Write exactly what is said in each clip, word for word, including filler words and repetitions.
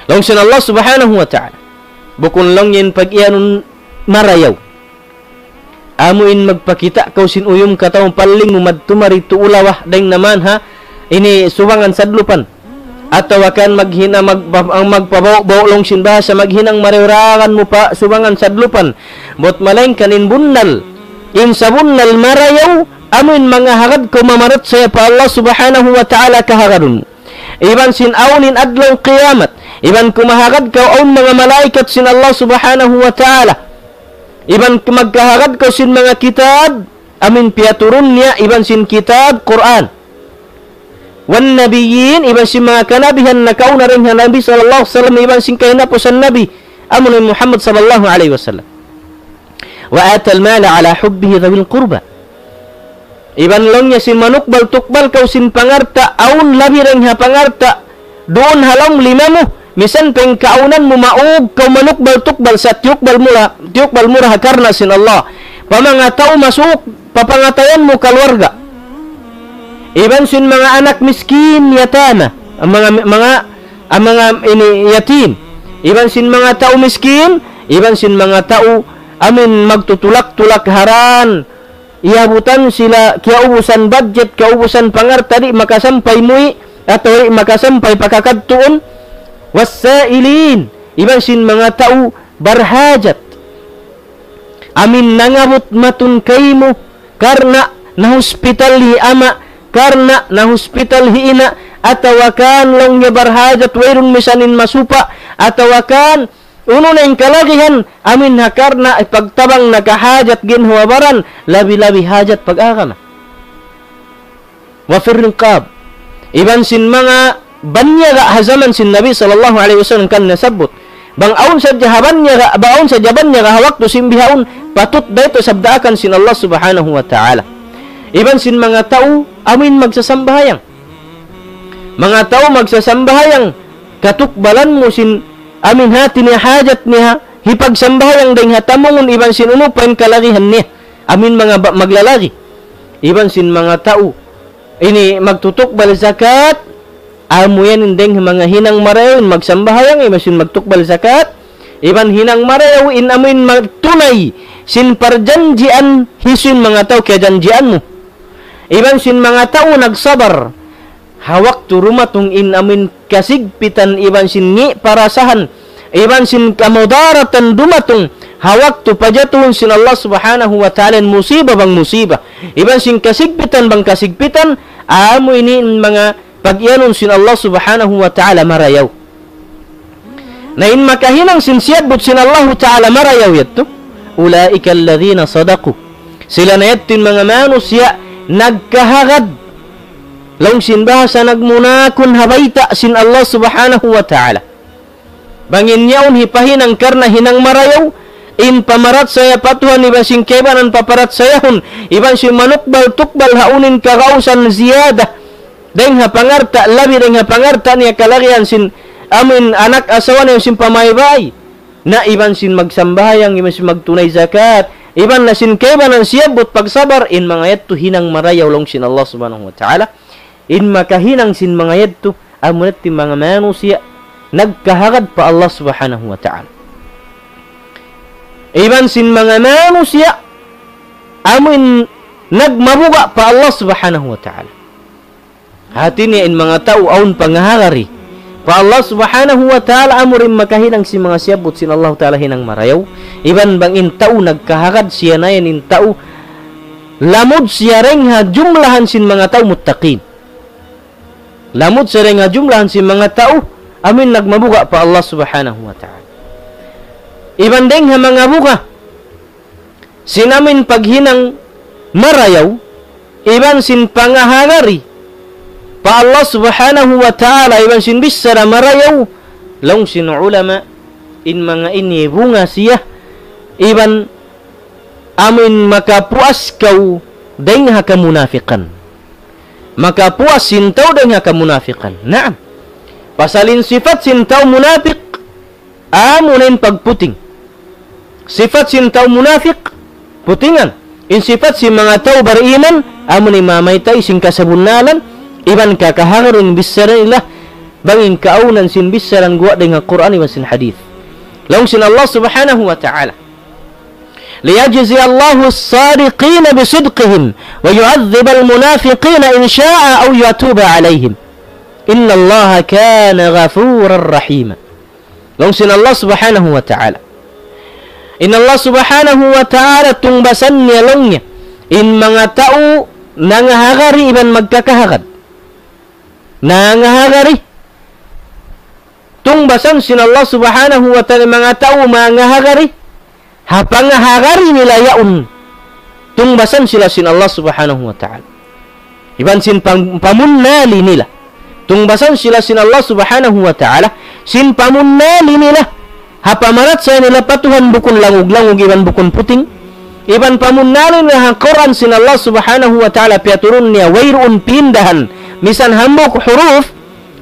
Laung sin Allah Subhanahu wa Ta'ala. Bukun laung in pag-iyanun marayaw. Amu in magpakita' kaw sin uyum kataw palling mu madtu mari tuulawa dayng naman ha. Ini subangan sadlupan. Atawa kan maghina-, magpa-, ang magpabaw-baw laung sin bahasa maghinang marayaw raran mu pa subangan sadlupan. But malayngkan in bunnal. In sabunnal marayaw, amu in manga hagad kaw mamarachaya pa Allah Subhanahu wa Ta'ala kahagadun. Iban sin awn in adlaw kiyamat. Iban kumahagad kaw awn manga malaikat sin Allah Subhanahu wa Ta'ala. Iban magkahagad kaw sin manga kitab, amu in piyaturun niya, iban sin kitab, Qur'an. Wan nabiyyin, iban sin manga kanabihan nakauna dayng ha Nabi sallallahu alayhi wasallam, iban sin kahinapusan Nabi, amu in Muhammad sallallahu alayhi wasallam. Wa atal mala ala hubbihi dhawil qurba. Iban laung niya sin manukbal-tukbal kaw sin pangalta', awn labi dayng ha pangalta', duun ha lawm lima mu, misan pa in kaawnan mu maug kaw manukbal-tukbal sa tiyukbal mu ra, tiyukbal mu ra ha karna' sin Allah. Pa manga tau masuk, pa pangatayan mu kaluarga. Iban sin manga anak miskin, yatama. Ang manga, manga, ang manga ini yatim. Iban sin manga tau miskin, iban sin manga tau amu in magtutulak-tulak haran. Iyabutan sila kiyaubusan budget, kiyaubusan pangalta' di' makasampay muwi', atawa di' makasampay pakakadtuun. Wasailin, iban sin manga tau barhajat. Amu in nangabut matun kaymu, karna' nahuspital hi ama', karna' nahuspital hi ina', atawa kan laung niya barhajat wayruun misan in masupa', atawa kan unu na in kalagihan, amu in ha karna' pagtabang na kahajat ginhawa-baran, labi-labi hajat pag-agama. Wa fir riqab. Iban sin manga banyaga ha jaman sin Nabi sallallahu alayhi wasallam kan nasabbut. Bang awn sadja ha banyaga, bang awn sadja banyaga ha waktu sin bihaun, patut da yadtu sabdaakan sin Allah Subhanahu wa Ta'ala. Iban sin manga tau, amu in magsasambahayang. Manga tau magsasambahayang, katukbalan mu sin amu in hati niya hajat niya, hipagsambahayang dayng ha tamungun iban sin unu pa in kalagihan niya. Amu in manga ba-, maglalagi. Iban sin manga tau ini magtutukbal zakat, amu yan in dayng manga hinang marayaw in magsambahayang, iban sin magtukbal zakat, iban hinang marayaw in amu in magtunay sin parjanjian hisiyu in manga tau kiyajanjian mu. Iban sin manga tau nagsabar ha waktu dumatung in amu in kasigpitan iban sin ngi' parasahan, iban sin kamudaratan dumatung ha waktu pajatuhun sin Allah Subhanahu wa Ta'ala in musiba bang musiba, iban sin kasigpitan bang kasigpitan, amu ini in manga pag-iyanun sin Allah Subhanahu wa Ta'ala marayaw. Na in makahinang sin siyabbut sin Allahu Ta'ala marayaw yadtu, أولئك الذين صدقوا. Sila na yadtu in manga manusiya' nagkahagad. Laung sin bahasa nagmunakun ha bayta' sin Allah Subhanahu wa Ta'ala. Bang in yaun hipahinang karna' hinang marayaw, in pamarachaya pa Tuhan iban sin kaibanan paparachayahun, iban sin manukbal-tukbal ha unu in kagausan ziyada. Dayng ha pangalta', labi dayng ha pangalta' niya kalagihan sin amu in anak asawa niya sin pamaybay. Na iban sin magsambahayang, iban sin magtunay zakat, iban na sin kaibanan siyabbut pagsabar, in manga yadtu hinang marayaw laung sin Allah Subhanahu wa Ta'ala. In makahinang sin manga yadtu, amu na in manga manusiya' nagkahagad pa Allah Subhanahu wa Ta'ala. Iban sin manga manusiya', amu in nagmabuga' pa Allah Subhanahu wa Ta'ala. Hati niya in manga tau awn pangahagari pa Allah Subhanahu wa Ta'ala, amu in makahinang sin manga siyabbut sin Allah Ta'ala hinang marayaw. Iban bang in tau nagkahagad siya na yan in tau lamud siya dayng ha jumlahan sin manga tau muttaqin. Lamud siya dayng ha jumlahan sin manga tau amu in nagmabuga' pa Allah Subhanahu wa Ta'ala. Iban dayng ha manga buga' sin amu in paghinang marayaw, iban sin pangahagari pa Allah Subhanahu wa Ta'ala, iban sin bichara marayaw, laung sin ulama, in manga ini bunga siya, iban amu in makapuas kaw dayng ha kamunafikan. Makapuas sin tau dayng ha kamunafikan. Naam. Pasal in sipat sin tau munafik, amu na in pagputing. Sipat sin tau munafik, putingan. In sipat sin manga tau bariman, amu na in mamaytay sin kasabunnalan, iban kakahagad in bichara nila, Bang in kaawnan sin bichara guwa' dayn ha Qur'an iban sin hadith. Laung sin Allah Subhanahu wa Ta'ala, ليجزي الله الصادقين بصدقهم ويعذب المنافقين إن شاء أو يتوب عليهم إن الله كان غفورا رحيما. Laung sin Allah Subhanahu wa Ta'ala. In Allah Subhanahu wa Ta'ala tungbasan niya laung niya in manga tau nangahagari iban magkakahagad. Nangahagari. Tungbasan sin Allah Subhanahu wa Ta'ala manga tau mangahagari. Ha pangahagari nila yaun, tungbasan sila sin Allah Subhanahu wa Ta'ala. Iban sin pam-, pamunnali nila. Tungbasan sila sin Allah Subhanahu wa Ta'ala, sin pamunnali nila. Ha pamarachaya nila pa Tuhan bukun langug-langug iban bukun puting. Iban pamunnali nila ha Qur'an sin Allah Subhanahu wa Ta'ala piyaturun niya wayruun pindahan. Misan hambuuk huruf,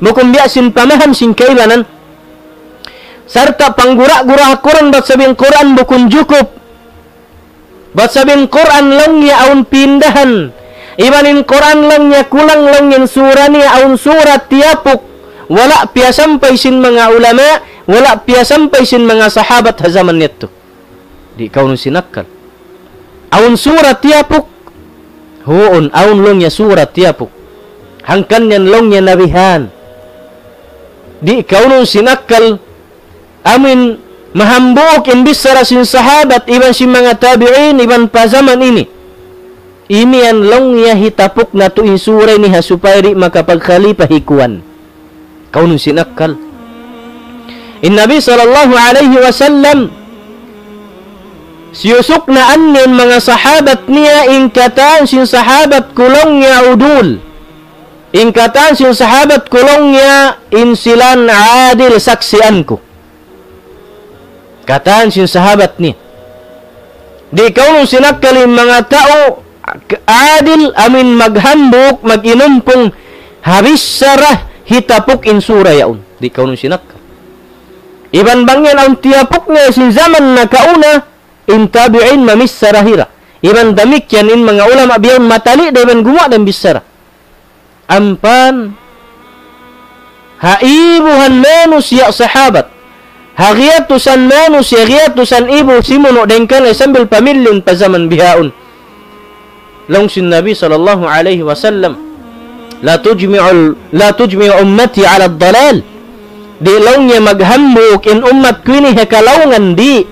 bukun biya' sin pamaham sin kaibanan. Sarta' panggura-gura ha Qur'an bat sabab in Qur'an bukun jukup. Bat sabab in Qur'an laung niya awn pindahan. Iban in Qur'an laung niya kulang laung in sura niya awn sura tiyapuk. Wala' piyasampay sin manga ulama, wala' piyasampay sin manga sahabat ha jaman yadtu. Di' kaw nu sinakkal. Awn sura tiyapuk. Huun, awn laung niya sura tiyapuk. Hangkan yan laung niya nabihan. Di' kaw nu sinakkal. Amin mahambuuk in bichara sin sahabat, iban sin manga tabi'in, iban pa jaman ini. Ini yan laung niya hitapuk natu' in sura ini ha supaya di' makapagkhalipa hi kuwan. Kaw nu sinakkal. In Nabi sallallahu alayhi wasallam, siyusuknaan niya in manga sahabat niya, in katan sin sahabat ku laung niya udul. In katan sin sahabat ku laung niya in sila adil saksian ku. Katan sin sahabat niya. Di' kaw nu sinakkal in manga tau adil amin maghambuuk, mag-inumpung, ha bichara hitapuk in sura yaun. Di' kaw nu sinakkal. Iban bang yan awn tiyapuk niya sin jaman nakauna, in tabi'in mamichara hira. Iban damikkiyan in manga ulama biyaun matali' da iban gumuwa' da in bichara. Ampa ha ibuhan manusiya' sahabat. Ha giyatusan manusiya', giyatusan ibu simunu' dayng kanila sambil pamilin pa jaman bihaun. Laung sin Nabi sallallahu alayhi wasallam, لا تجمع، لا تجمع أمتي على ضلالة. Di' laung niya maghambuuk in ummat ku ini ha kalaungan, di'.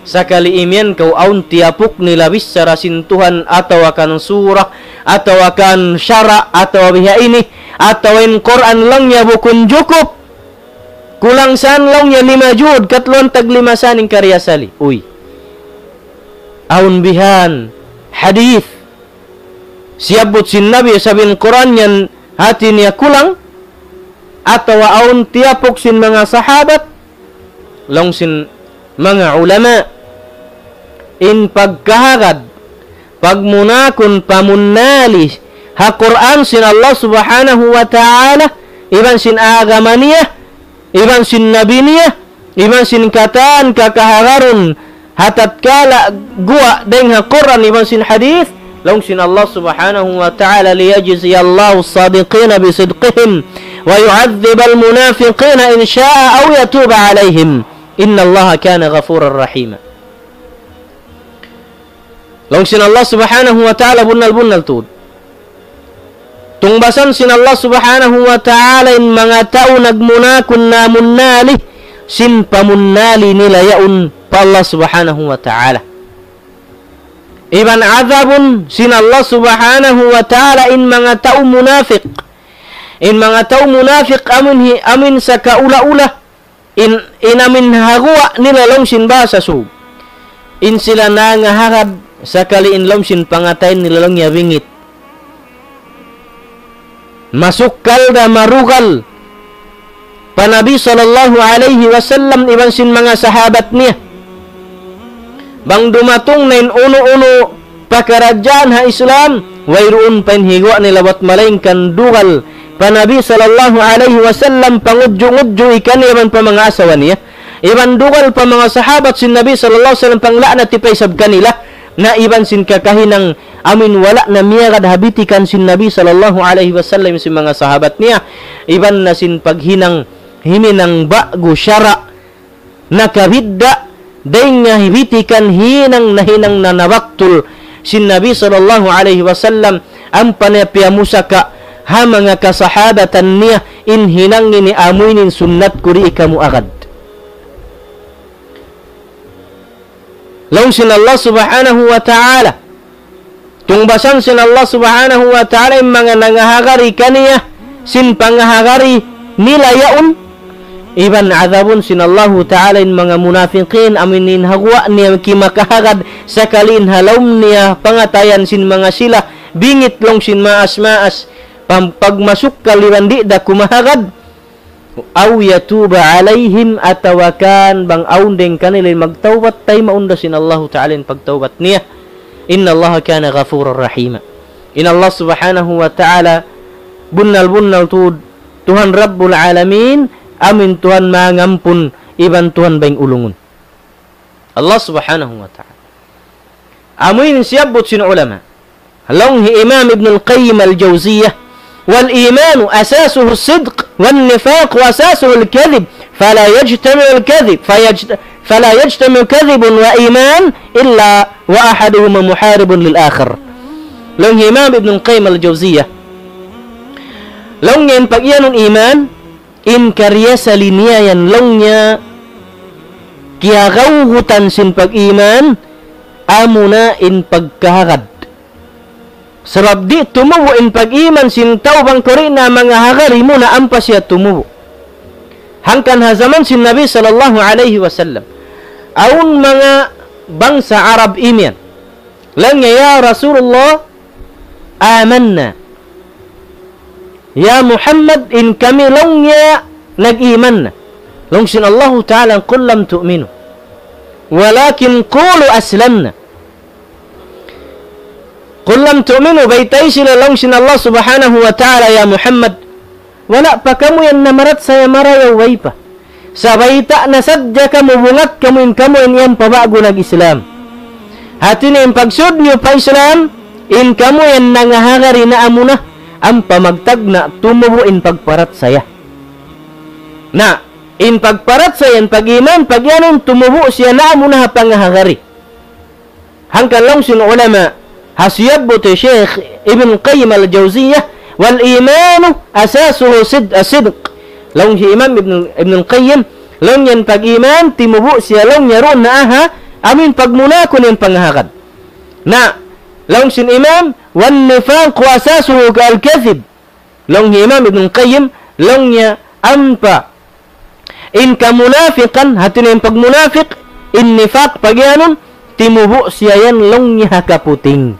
Sakali imiyan kaw awn tiyapuk nila bichara sin Tuhan atawa kan sura, atawa kan sara', atawa biha ini, atawa in Qur'an laung niya bukun jukup. Kulang san laung niya lima jud, katluan tag lima san in kariasali. Uy. Awn bihan hadith. Siyabbut sin Nabi sabab in Qur'an yan hati niya kulang, atawa awn tiyapuk sin manga sahabat, laung sin manga ulama, in pagkahagad, pagmunakun, pamunnali, ha Qur'an sin Allah Subhanahu wa Ta'ala, iban sin agama niya, iban sin Nabi niya, iban sin katan kakahagarun, ha tatkala guwa' dayng ha Qur'an iban sin hadith, laung sin Allah Subhanahu wa Ta'ala, ليجزي الله الصادقين بصدقهم ويعذب المنافقين إن شاء أو يتوب عليهم إن الله كان غفورا رحيما. Laung sin Allah Subhanahu wa Ta'ala bunnal-bunnal tuud. Tungbasan sin Allah Subhanahu wa Ta'ala in manga tau nagmunakun namunnali, sin pamunnali nila yaun pa Allah Subhanahu wa Ta'ala. Iban adabun sin Allah Subhanahu wa Ta'ala in manga tau munafik. In manga tau munafik amun hi-, amun sakaula-ula. In, in amin ha guwa' nila laung sin bahasa Sug. In sila nangahagad sakali in laung sin pangatayan nila laung niya bingit. Masukkal da marugal pa Nabi sallallahu alayhi wasallam iban sin manga sahabat niya. Bang dumatung na in unu-unu pakaradjaan ha Islam, wayruun pa in higuwa' nila bat malaingkan dugal pa Nabi sallallahu alayhi wasallam, pangudju'-ngudju' kaniya iban pa manga asawa niya. Iban dugal pa manga sahabat sin Nabi sallallahu alayhi wasallam, pangla'nat pa isab kanila. Na iban sin kakahinang amuin wala' na miyagad ha bitikan sin Nabi sallallahu alayhi wasallam sin manga sahabat niya, iban na sin paghinang himinang ba'gu sara' nakabidda', dayn ha bitikan hinang na hinang na nabaktul sin Nabi sallallahu alayhi wasallam, ampa niya piyamusaka ha manga kasahabatan niya, in hinang ini amuin sunnat ku di' kamu agad. Laung sin Allah subhanahu wa ta'ala. Tungbasan sin Allah subhanahu wa ta'ala in manga nangahagari kaniya, sin pangahagari nila yaun. Iban adabun sin Allahu ta'ala in manga munafiqin, amuin ha guwa' niya kimakahagad, sakali in ha lawm niya pangatayan sin manga sila, bingit laung sin maas-maas, pam-, pagmasuk kaliwan di' da kumahagad. أو يتوب عليهم, atawa kan bang awn dayn kanila in magtawbat, taymaun da sin Allahu ta'ala in pagtawbat niya. إن الله كان غفورا رحيما. In Allah subhanahu wa ta'ala, bunnal-bunnal tuud, Tuhan Rabbul Alamin, amuin Tuhan mangampun, iban Tuhan bayng ulungun. Allah subhanahu wa ta'ala. Amuin siyabbut sin ulama. Laung hi Imam Ibn al-Qayyim al-Jawziyah, والإيمان أساسه الصدق والنفاق أساسه الكذب فلا يجتمع الكذب فيجت-، فلا يجتمع كذب وإيمان إلا وأحدهما محارب للآخر. Laung hi Imam Ibn al-Qayyim al-Jawziyah, laung niya in pag-iyanun iman, in kariyasali niya yan laung niya kiyagawgutan sin pag-iman, amuna in pagkahagad. Sabab di' tumubu' in pag-iman sin tau bang kuri' na mangahagari muna ampa siya tumubu'. Hangkan ha jaman sin Nabi sallallahu alayhi wasallam, awn manga bangsa Arab imiyan. Laung niya, "Ya Rasulullah, amanna." "Ya Muhammad, in kami," laung niya, "nag-iman na." Laung sin Allahu ta'ala, "قل لم تؤمنوا ولكن قولوا أسلمنا." "قل لم تؤمنوا," baytai sila laung sin Allah subhanahu wa ta'ala, "Ya Muhammad, wala' pa kamu yan namarachaya marayaw way pa. Sa' bayta' na sadja kamu, bungat kamu in kamu yan iyan pa ba'gu nag-Islam." Hati niya in pagsud niyu pa Islam, in kamu yan nangahagari na amuna, ampa magtagna' tumubu' in pagparachaya. Na, in pagparachaya, in pag-iman, pag-iyanun tumubu' siya na amuna ha pangahagari. Hangkan laung sin ulama, ha siyabbut hi Shaykh Ibn Qayyim al-Jawziyah, "والإيمان أساسه صد-، الصدق." Laung hi Imam Ibn, Ibn Qayyim, laung niya in pag-iman, timubu' siya laung niya duun na ha, amuin pagmuna kunu' in pangahagad. Na, laung sin Imam, "والنفاق أساسه الكذب." Laung hi Imam Ibn Qayyim, laung niya ampa in kamunafikan, hati niya in pagmunafik, in nifak, pag-iyanun, timubu' siya yan laung niya ha kaputing.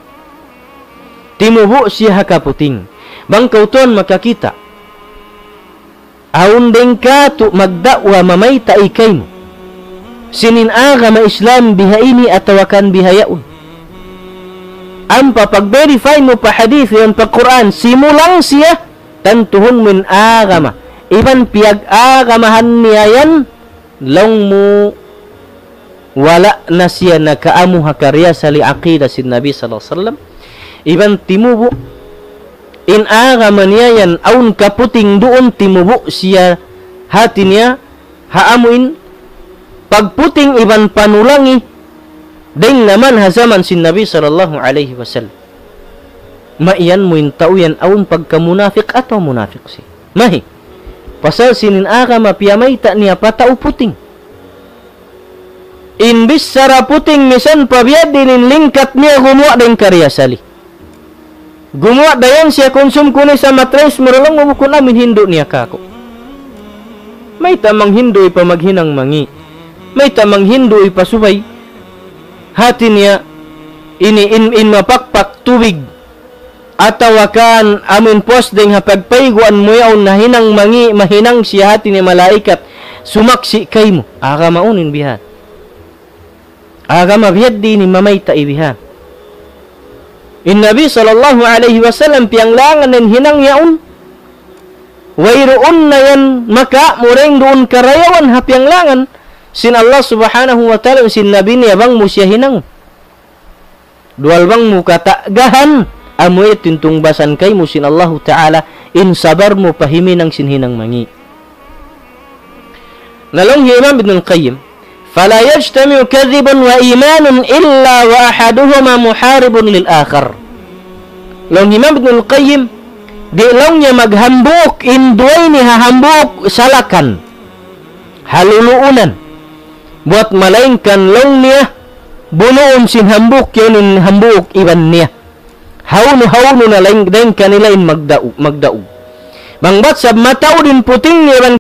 Timubu' siya ha kaputing. Bang kaw tuwan makakita', awn dayn katu' magda'wa mamayta' kaymu sin in agama Islam biha ini atawa kan biha yaun. Ampa pag-verify mu pa hadith yan pa Qur'an, simulang siya, tantuhun mu in agama. Iban piyag-agamahan niya yan, laung mu wala' na siya nakaamu ha kariyasali aqida sin Nabi sallallahu alayhi wasallam. Iban timubu' in agama niya yan awn kaputing duun, timubu' siya hati niya ha amuin pagputing iban panulangi dayn naman ha jaman sin Nabi sallallahu alayhi wasallam. Maiyan mu in tau yan awn pagkamunafik atawa munafik siya. Mahi. Pasal sin in agama piyamayta' niya pa tau puting. In bichara puting misan pa biya' diin in lingkat niya gumuwa' da in kariyasali. Gumuwa' da yan siya kunsum kunu' sa matres murulung mu bukun amin hindu' niya kāku'. Mayta' manghindu' pa maghinang mangi'. Mayta' manghindu' pa subay. Hati niya ini in, in mapakpak tubig. Atawa kan amin puas dayn ha pagpayguan mu yaun na hinang mangi', mahinang siya hati niya malaikat. Sumaksi' kaymu. Agama unu in bihan. Agama biya' diin in mamayta' bihan. In Nabi sallallahu alayhi wasallam piyanglangan in hinang yaun. Wayruun na yan maka mureng duun karayawan ha piyanglangan sin Allah subhanahu wa ta'ala sin Nabi niya bang mu siya hinang. Duwal bang mu kata'gahan, amu yadtu in tungbasan kaymu sin Allahu Ta'ala, in sabar mu pa himinang sin hinang mangi'. Na laung hi Imam Ibnul Qayyim, فلا يجتمع كذب وإيمان إلا وأحدهما محارب للآخر. Laung hi Imam Ibnul Qayyim, di' laung niya maghambuuk in duwa ini ha hambuuk salakan, ha luluunan. Buwat malaingkan laung niya, bunuun sin hambuuk yaun in hambuuk iban niya. Hawnu-hawnu na laing, dayn kanila in magdau-, magdaug. Bang bat sab mataud in puting niya iban